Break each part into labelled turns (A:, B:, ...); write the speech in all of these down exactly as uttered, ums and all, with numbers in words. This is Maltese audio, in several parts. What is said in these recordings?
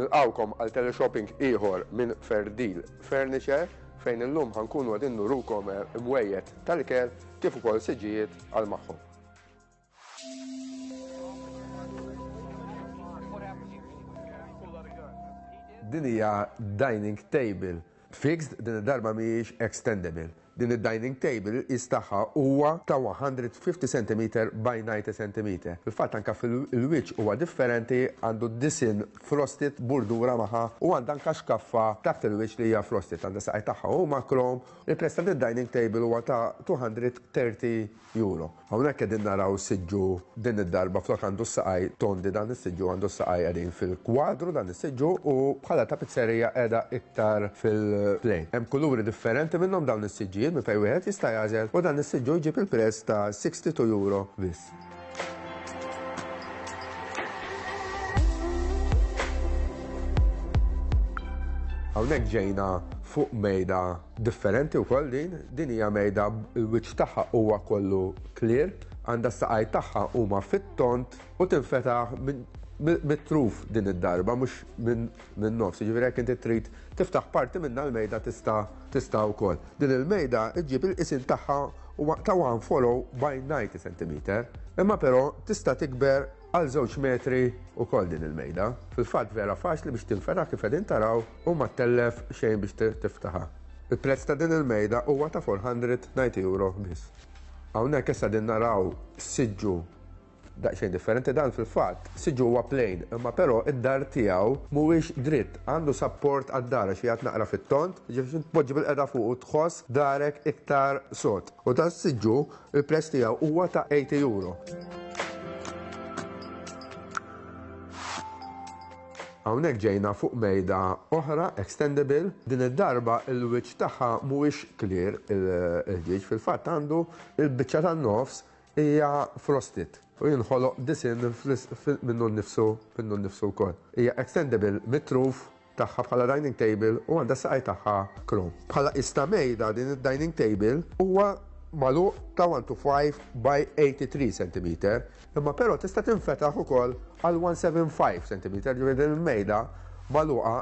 A: Nilqgħukom għal teleshopping ieħor minn Ferdil Furniture fejn illum ħa nkunu qegħdin nurukom imwejjed tal-ikel kif ukoll siġġijiet għal magħhom. Din hija dining table fixed, din id-darba mhijiex extendable. Din id-dining table il-qies tagħha huwa ta' one hundred fifty centimeter by ninety centimeter. Fil-fatt anka fil-wiċċ huwa differenti, għandu disinn frosted, bordura magħha u għandha anka xkaffa taħt il-wiċċ li hija frosted. Għandha saqaj tagħha huma chrome. Il-prezz ta' dining table huwa ta' two hundred thirty euro. Hawnhekk qegħdin naraw siġġu. Din id-darba flok għandu saqaj tondi, dan is-siġġu għandu saqaj qegħdin fil-kwadru dan is-siġġu u bħala tapizzerija qiegħda iktar fil-plain. Hemm kuluri differenti minnhom dawn is-siġġijiet minn fejn wieħed jista' jagħżel u dan is-siġġu jġib il-prezz ta' sixty-two euro biss. Hawnhekk ġejna fuq mejda differenti wkoll din, din hija mejda il-wiċċ tagħha huwa kollu clear, għandha s-saqaj tagħha huma fit-tont u tinfetaħ mit-truf din id-darba, mhux minn nofs. Ġifieri jekk inti trid tiftaħ parti minna l-mejda tista' tista' wkoll. Din il-mejda ġġib il-qisin tagħha huwa ta' one forty by ninety centimeter. Imma però tista' tikber għal żewġ metri ukoll din il-mejda. Fil-fatt vera faċli biex tinfetaħ kif qegħdin taraw u ma ttellef xejn biex tiftaħha. Il-prezz ta' din il-mejda huwa ta' four hundred ninety euro biss. Hawnhekk issa din naraw siġġu daqsxejn differenti. Dan fil-fatt siġġu huwa plain, imma però id-dahar tiegħu mhuwiex dritt, għandu support għad-dahar xi jgħid naqra fit-tont, ġifieri tpoġġi bil-qeda fuq u tħoss dahrek iktar sod. U dan siġġu il-prezz tiegħu huwa ta' eighty euro. Hawnhekk ġejna fuq mejda oħra extendable. Din id-darba il-wiċċ tagħha mhuwiex clear il-ħġieġ, fil-fatt għandu il-biċċa tan-nofs hija frosted u jinħoloq disinn minnu nnifsu minnu nnifsu wkoll. Hija extendable mit-truf tagħha bħala dining table u għandha saqaj tagħha chrome. Bħala ista mejda din id-dining table huwa magħluq ta' one two five by eighty-three centimeter, imma però tista' tinfetaħ ukoll għal one seventy-five centimeter, ġifieri din il-mejda magħluqa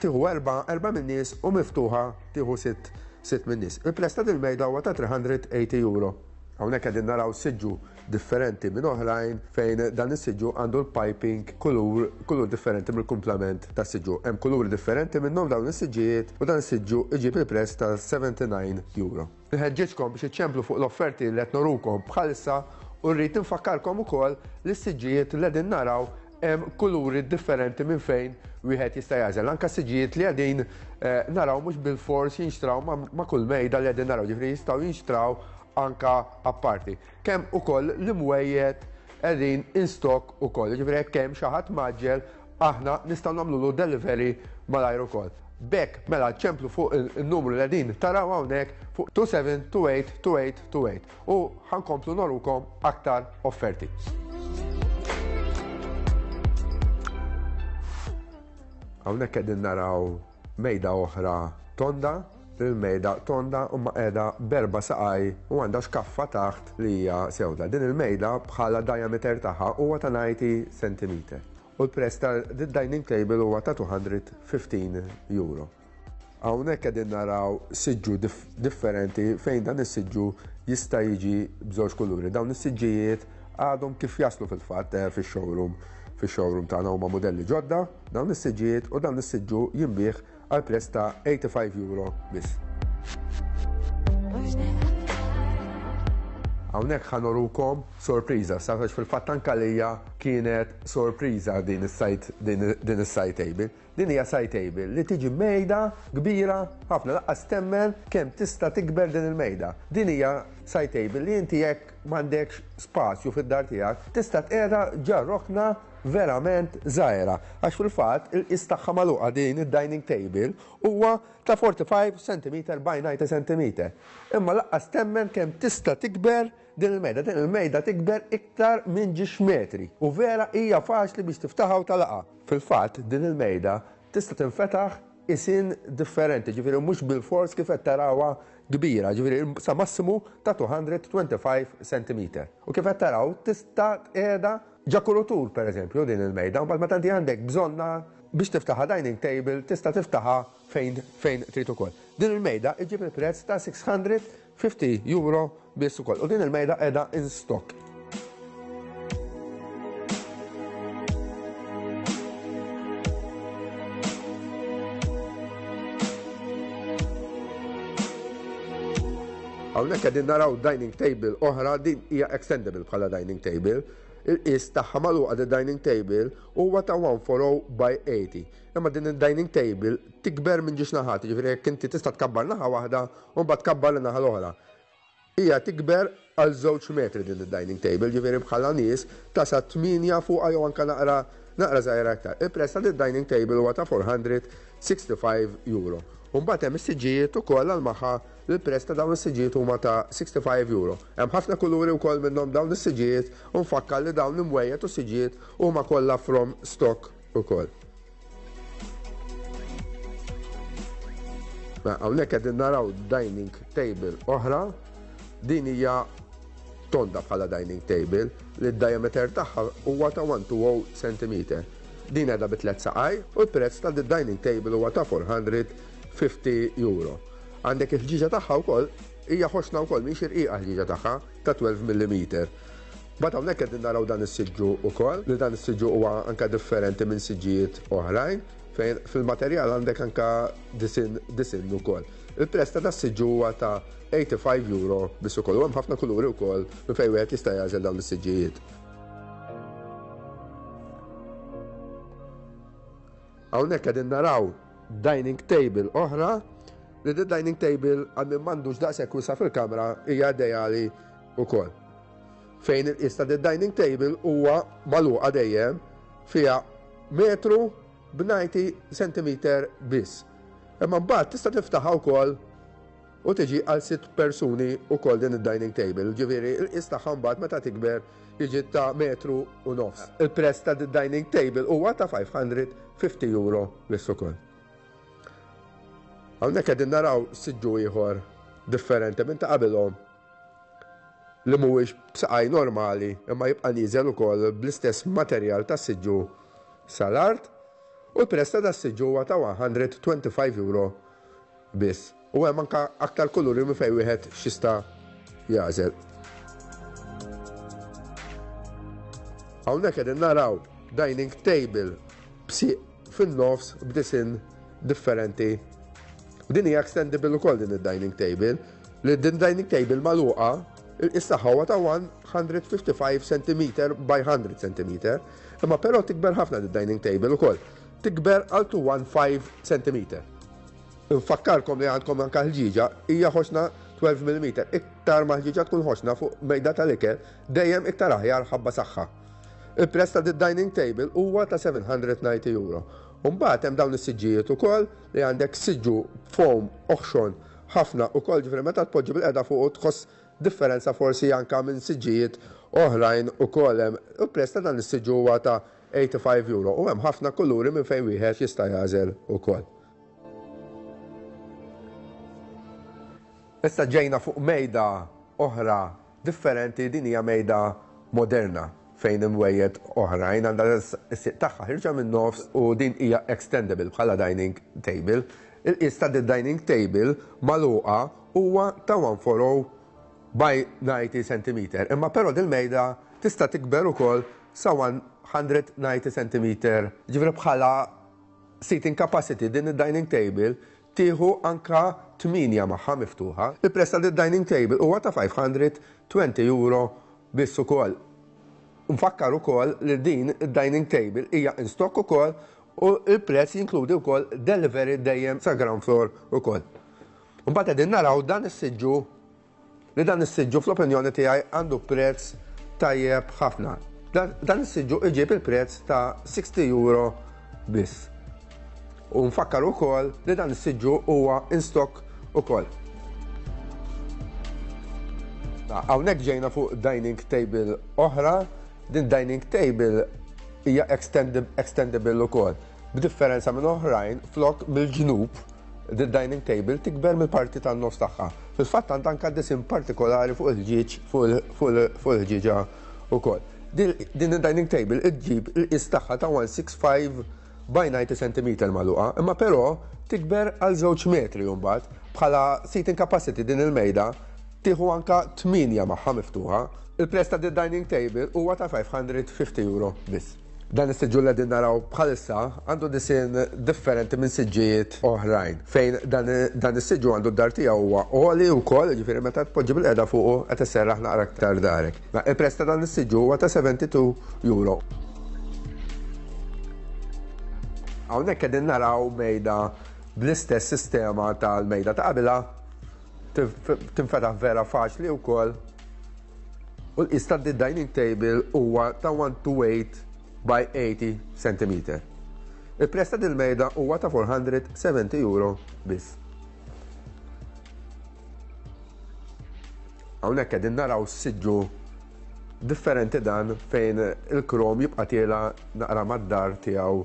A: tieħu erba' erba' min-nies u miftuħa tieħu sitt sitt min-nies. Il-prezz ta' din il-mejda huwa ta' three hundred eighty euro. Hawnhekk qegħdin naraw siġġu differenti minn oħrajn fejn dan is-siġġu għandu l-piping kulur kulur differenti mill-kumplament tas siġġu. Hemm kuluri differenti minnhom dawn is-siġġijiet u dan is-siġġu iġib il-prezz ta' seventy-nine euro. Nħeġġeġkom biex iċċemplu fuq l-offerti li qed norukom bħalissa u rrid nfakkarkom ukoll li s-siġġijiet li qegħdin naraw hemm kuluri differenti minn fejn wieħed jista' jagħżel. Anka siġġijiet li qegħdin eh, naraw mhux bil-fors jinxtraw ma' kull mejda li qegħdin naraw, ġifieri jistgħu jinxtraw anka apparti. Kemm ukoll l-imwejjed qegħdin in stock ukoll, ġifieri jekk hemm xi ħadd mgħaġġel, aħna nistgħu nagħmlu delivery malajr ukoll. B'hekk mela ċemplu fuq il-numru li qegħdin taraw hawnhekk fuq twenty-seven twenty-eight twenty-eight twenty-eight u ħa nkomplu norukom aktar offerti. Hawnhekk qegħdin naraw mejda oħra tonda, il-mejda tonda u ma qiegħda b'erba' saqaj u għandha xkaffa taħt li hija sewda. Din il-mejda bħala diameter tagħha huwa ta' ninety centimeter. U l-prezz ta' dining table huwa ta' two hundred fifteen euro. Hawnhekk qegħdin naraw siġġu differenti fejn dan is-siġġu jista' jiġi b'żewġ kuluri. Dawn is-siġġijiet għadhom kif jaslu fil-fatt eh, fix-showroom fix-showroom tagħna, huma modelli ġodda dawn is-siġġijiet u dan is-siġġu jinbiegħ għal prezz ta' eighty-five euro biss. Hawnhekk ħa norukom sorpriża, safax fil-fatt anka lija kienet sorpriża din is-side din is-side table. Din hija side table li tiġi mejda kbira ħafna, lanqas temmen kemm tista' tikber din il-mejda. Din hija side table li inti jekk m'għandekx spazju fid-dar tiegħek tista' tqiegħda ġo rokna verament żgħira. Għax fil-fatt il-qis tagħha magħluqa din id-dining table huwa ta' forty-five centimeter by ninety centimeter. Imma lanqas temmen kemm tista' tikber din il-mejda. Din il-mejda tikber iktar minn żewġ metri u vera hija faċli biex tiftaħha u tagħlaqha. Fil-fatt din il-mejda tista' tinfetaħ isin differenti, ġifieri mhux bil-fors kif qed tarawha kbira, ġifieri sa massimu ta' two hundred twenty-five centimeter. U kif qed taraw tista' tqiegħda Ġo kuritur, per eżempju, din il-mejda, u meta inti għandek bżonna biex tiftaħa dining table, tista' tiftaħa fejn fejn trid ukoll. Din il-mejda iġib il-prezz ta' sitt mija u ħamsin euro biss ukoll. U din il-mejda qiegħda in stock. Hawnhekk qegħdin naraw dining table oħra, din hija extendable bħala dining table. Il-qis tagħha magħluqa di dining table huwa ta' mija u erbgħin by tmenin. Imma din il-dining table tikber minn żewġ naħat, jiġifieri jekk inti tista' tkabbar naħa waħda u mbagħad tkabbar in-naħa l-oħra. Hija tikber għal żewġ metri din id-dining table, ġifieri bħala nies ta' sa tmienja fuqha jew anka naqra naqra żgħira aktar. Il-prezz ta' dining table huwa ta' erba' mija u ħamsa u sittin euro. Mbagħad hemm is-siġġijiet ukoll għal magħha, il-prezz ta' dawn is-siġġijiet huma ta' sittaħax-il euro. Hemm ħafna kuluri wkoll minnhom dawn is-siġġijiet u nfakkar li dawn l-imwejjed u siġġijiet huma kollha from stock ukoll. Hawnhekk qegħdin naraw dining table oħra, din hija tonda bħala dining table li d-diameter tagħha huwa ta' mija u għoxrin centimetru. Din qiegħda bi tliet saqaj u l-prezz ta' dining table huwa ta' erba' mija u ħamsin euro. Għandek il-ħġiġa tagħha wkoll hija ħoxna wkoll, mhix irqiqa ħġiġa tagħha ta' tnax-il millimetru. But hawnhekk qegħdin naraw dan is-siġġu wkoll, li dan is-siġġu huwa anka differenti minn siġġijiet oħrajn, fejn fil-materjal għandek anka disinn disinn ukoll. Il-prezz ta' das-siġġu huwa ta' tmenin u ħamsa euro biss ukoll, u hemm ħafna kuluri wkoll minn fejn wieħed jista' jagħżel dawn is-siġġijiet. Hawnhekk qegħdin naraw dining table oħra, li di dining table għal min m'għandux daqshekk wisa' fil-kamra hija ideali wkoll. Fejn il-qis ta' dining table huwa magħluqa dejjem fiha metru b'disgħin centimeter biss. Imma mbagħad tista' tiftaħha wkoll u tiġi għal sitt persuni wkoll din id-dining table. Ġifieri il-qis tagħha mbagħad meta tikber jiġi ta' metru u nofs. Il-prezz ta' dining table huwa ta' ħames mija u ħamsin euro biss ukoll. Hawnhekk qegħdin naraw siġġu ieħor differenti minn ta' qabilhom, li mhuwiex b'saqaj normali imma jibqa' nieżel ukoll bl-istess materjal tas siġġu sal-art, u l-prezz ta' das-siġġu huwa ta' mija u ħamsa u għoxrin euro biss. U hemm anka aktar kuluri minn fejn wieħed x'jista' jagħżel. Hawnhekk qegħdin naraw dining table b'sieq fin-nofs b'disinn differenti. Din hija extendable ukoll din id-dining table, li din dining table magħluqa il-qis tagħha huwa ta' mija u ħamsa u ħamsin centimetru by mija centimetru. Imma però tikber ħafna din dining table ukoll. Tikber għal dmija u ħames centimetru. Nfakkarkom li għandkom anka ħġiġa hija ħoxna tnax-il millimetru. Iktar ma ħġiġa tkun ħoxna fuq mejda tal-ikel, dejjem iktar aħjar ħabba saħħa. Il-prezz ta' dining table huwa ta' seba' mija u disgħin euro. Mbagħad hemm dawn is-siġġijiet ukoll, li għandek siġġu foam oħxon ħafna ukoll, ġifieri meta tpoġġi bil-qeda fuq tħoss differenza forsi anka minn siġġijiet oħrajn ukoll hemm. Il-prezz ta' dan is-siġġu huwa ta' tmenin u ħamsa euro u hemm ħafna kuluri minn fejn wieħed jista' jagħżel ukoll. Issa ġejna fuq mejda oħra differenti, din hija mejda moderna fejn imwejjed oħrajn għandha s-sieq tagħha ħierġa minn nofs u din hija extendable bħala dining table. Il-qis ta' dining table magħluqa huwa ta' mija u erbgħin by disgħin centimetru. Imma però din mejda tista' tikber ukoll sa mija u disgħin centimetru. Ġifieri bħala seating capacity din id-dining table tieħu anka tmienja magħha miftuħa. Il-prezz ta' dining table huwa ta' ħames mija u għoxrin euro biss ukoll. Nfakkar ukoll li din id-dining table hija in stock ukoll u il-prezz jinkludi wkoll delivery dejjem sa ground floor ukoll. Mbagħad qegħdin naraw dan is-siġġu, li dan is-siġġu fl-opinjoni tiegħi għandu prezz tajjeb ħafna. Dan, dan is-siġġu iġib il-prezz ta' sittin euro biss. U nfakkar ukoll li dan is-siġġu huwa in stock ukoll. Hawnhekk ġejna fuq dining table oħra. Din dining table hija extendable ukoll. B'differenza minn oħrajn, flok mill-ġnub, din dining table tikber mill-parti tan-nofs tagħha. Fil-fatt għandha anka disinn partikolari fuq il-ħġieġ, fuq il-ħġieġa ukoll. Din id-dining table iġġib il-qies tagħha ta' one sixty-five by ninety centimeter magħluqa, imma però tikber għal żewġ metri mbagħad bħala seating capacity din il-mejda tieħu anka tmienja magħha miftuħa. Il-prezz ta' din dining table huwa ta' five hundred fifty euro biss. Dan is-siġġu li qegħdin naraw bħalissa għandu disinn differenti minn siġġijiet oħrajn, fejn dan, dan is-siġġu għandu d-dar tiegħu huwa għoli wkoll, jiġifieri meta tpoġġi bil-qiegħda fuqu qed isserraħ naqra aktar darek. Il-prezz ta' dan is-siġġu huwa ta' seventy-two euro. Hawnhekk qegħdin naraw mejda bl-istess sistema tal-mejda ta' qabilha, tinfetaħ vera faċli wkoll. U l-qies ta' dining table huwa ta' one two eight by eighty centimeter. Il-prezz ta' dil-mejda huwa ta' four hundred seventy euro biss. Hawnhekk qegħdin naraw siġġu differenti dan fejn il-krom jibqa' tiela naqra mad-dar tiegħu.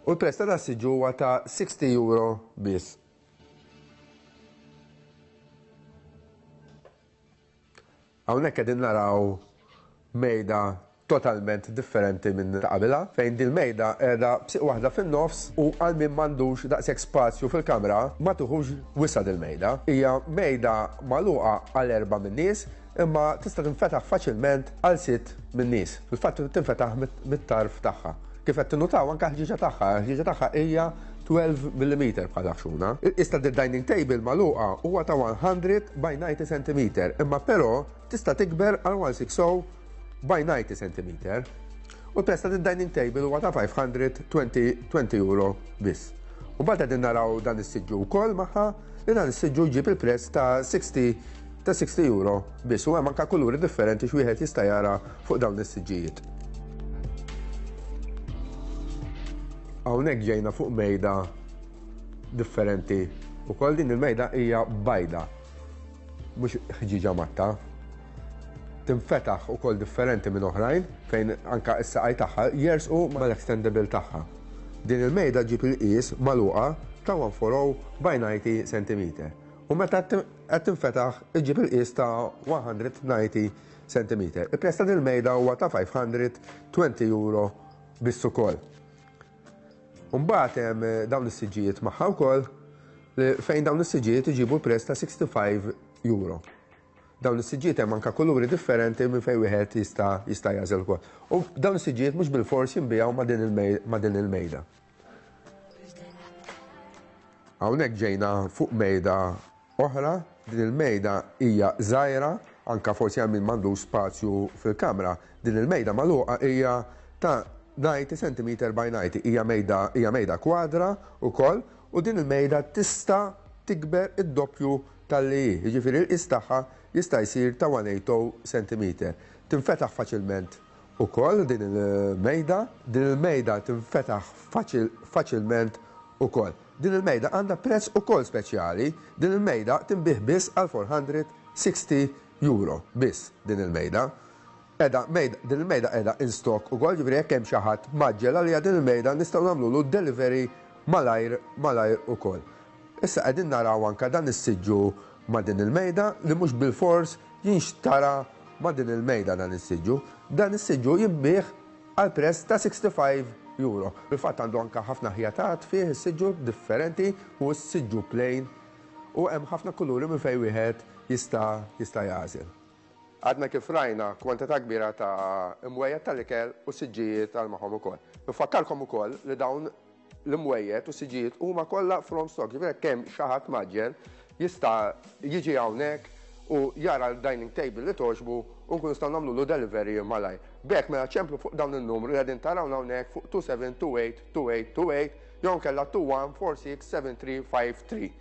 A: U l-prezz ta' dan siġġu huwa ta' sixty euro biss. Hawnhekk qegħdin naraw mejda totalment differenti minn ta' qabilha, fejn din mejda qiegħda b'siq waħda fin-nofs u għal min m'għandux daqshekk spazju fil-kamra ma tuħux wisa' dil-mejda. Hija mejda magħluqa għal erba' min-nies, imma tista' tinfetaħ faċilment għal sitt min-nies. Fil-fatt tinfetaħ mit-tarf tagħha. Kif qed tinnutaw anke l-ħġieġa tagħha, l-ħġieġa tagħha hija twelve millimeter bħala ħxuna. Issa d-dining table magħluqa huwa ta' one hundred by ninety centimeter, imma però tista' tikber għal one six oh by ninety centimeter. U l-prezz ta' dining table huwa ta' five hundred twenty euro biss. U mbagħad qegħdin naraw dan is-siġġu wkoll magħha, li dan is-siġġu jġib il-prezz ta' sixty, ta' sixty euro biss, u hemm anke kuluri differenti x'wieħed jista' jara fuq dawn is-siġġijiet. Hawnhekk ġejna fuq mejda differenti wkoll. Din il-mejda hija bajda, mhux ħġieġa matta. Tinfetaħ ukoll differenti minn oħrajn fejn anka s-saqaj tagħha jersqu mal-extendable tagħha. Din il-mejda ġib il-qies magħluqa ta' one four oh by ninety centimeter. U meta qed tinfetaħ iġib il-qies ta' one hundred ninety centimeter. Il-prezz ta' din il-mejda huwa ta' five hundred twenty euro biss ukoll. Mbagħad hemm dawn is-siġġijiet magħha wkoll, li fejn dawn is-siġġijiet iġibu l-prezz ta' sixty-five euro. Dawn is-siġġijiet hemm anke kuluri differenti minn fejn wieħed jista' jista' jagħżel ukoll. U dawn is-siġġijiet mhux bilfors jinbiegħu ma' din il-mej-, ma' din il-mejda. Hawnhekk ġejna fuq mejda oħra. Din il-mejda hija żgħira, anke forsi hemm min m'għandux spazju fil-kamra. Din il-mejda magħluqa hija ta' ninety centimeter by ninety, hija mejda, hija mejda kwadra wkoll, u din il-mejda tista' tikber id-doppju tal-li hi, jiġifieri l-qies tagħha jista' jsir ta' one eight oh centimeter. Tinfetaħ faċilment ukoll din il-mejda, din il-mejda tinfetaħ faċil-, faċilment ukoll. Din il-mejda għandha prezz ukoll speċjali, din il-mejda tinbih biss għal four hundred sixty euro biss din il-mejda. Qiegħda mejda, din il-mejda qiegħda in stock ukoll, jiġifieri jekk hemm xi ħadd maġġel għalija din il-mejda nistgħu nagħmlulu delivery malajr, malajr ukoll. Issa qegħdin naraw anke dan is-siġġu ma' din il-mejda li mhux bilfors jinxtara ma' din il-mejda dan is-siġġu. Dan is-siġġu jinbiegħ għal prezz ta' sixty-five euro. Fil-fatt għandu anke ħafna ħjatat fih is-siġġu differenti u s-siġġu plain u hemm ħafna kuluri minn fejn wieħed jista' jista' jagħżel. Għadna kif rajna kwantità kbira ta' imwejjed tal-ikel u siġġijiet għal magħhom ukoll. Nfakkarkom ukoll li dawn l-imwejjed u siġġijiet huma kollha from stock, ġifieri jekk hemm xi ħadd maġġel jista' jiġi hawnhekk u jara l-dining table li toġbu u nkunu nistgħu nagħmlulu delivery malajr. B'hekk mela ċemplu fuq dawn in-numru li qegħdin taraw hawnhekk fuq two seven two eight two eight two eight jew inkella two one four six seven three five three.